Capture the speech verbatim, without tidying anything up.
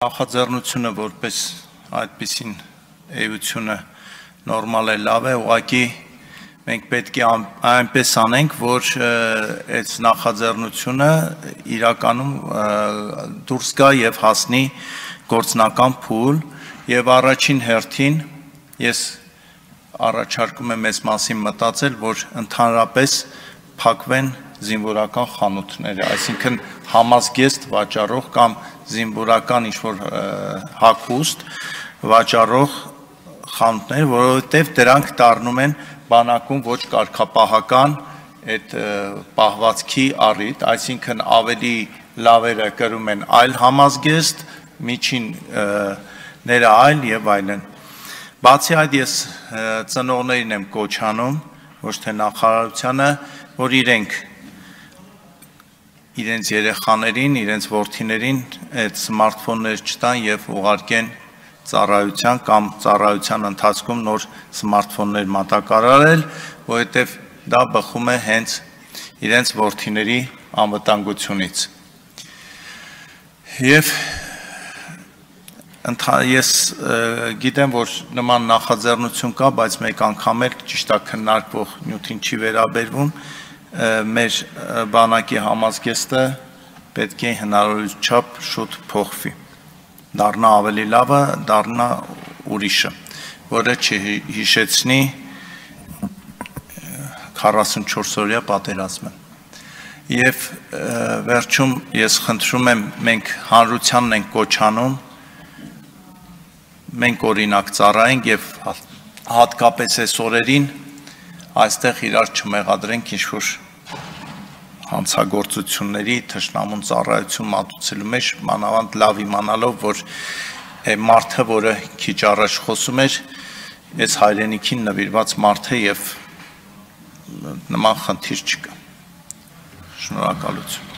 Նախաձեռնությունը որպես այդպիսին էությունը նորմալ է, լավ է, ուղղակի մենք պետք է այնպես անենք, որ այդ նախաձեռնությունը իրականում դուրս գա եւ հասնի գործնական փուլ եւ առաջին հերթին ես առաջարկում եմ այս մասին մտածել, որ ընդհանրապես փակվեն զինվորական խանութները, այսինքն համազգեստ վաճառող կամ զինվորական ինչ-որ հագուստ վաճառող խանութներ, որովհետև դրանք դառնում են բանակում ոչ կարգապահական այդ պահվածքի առիթ, այսինքն ավելի լավերը կրում են այլ համազգեստ, միջինները այլ եւ այլն։ Բացի այդ ես ծնողներին եմ կոչ անում, ոչ թե նախարարությանը, որ իրենք իրենց երեխաներին, իրենց որդիներին այդ սմարթֆոններ չտան եւ ուղարկեն ծառայության կամ ծառայության ընթացքում նոր սմարթֆոններ մատակարարել, որովհետեւ դա բխում է հենց իրենց որդիների անվտանգությունից։ Եվ ես գիտեմ, որ նման նախաձեռնություն կա, բայց մեկ անգամ էլ ճիշտ է քննարկվող նյութին չի վերաբերվում, մեր բանակի համազգեստը պետք է հնարավորինս չափ շուտ փոխվի, դառնա ավելի լավը, դառնա ուրիշը, որը չհիշեցնի քառասունչորսօրյա պատերազմը։ Եվ վերջում ես խնդրում եմ, մենք հանրությանն ենք կոչ անում, մենք օրինակ ծառայենք եւ հատկապես այս օրերին այստեղ իրար չմեղադրենք ինչ-որ հանցագործությունների, թշնամուն ծառայություն մատուցելու մեջ, մանավանդ լավ իմանալով, որ մարդը, որը քիչ առաջ խոսում էր, այս հայրենիքին նվիրված մարդ է եւ նման խնդիր չկա։ Շնորհակալություն։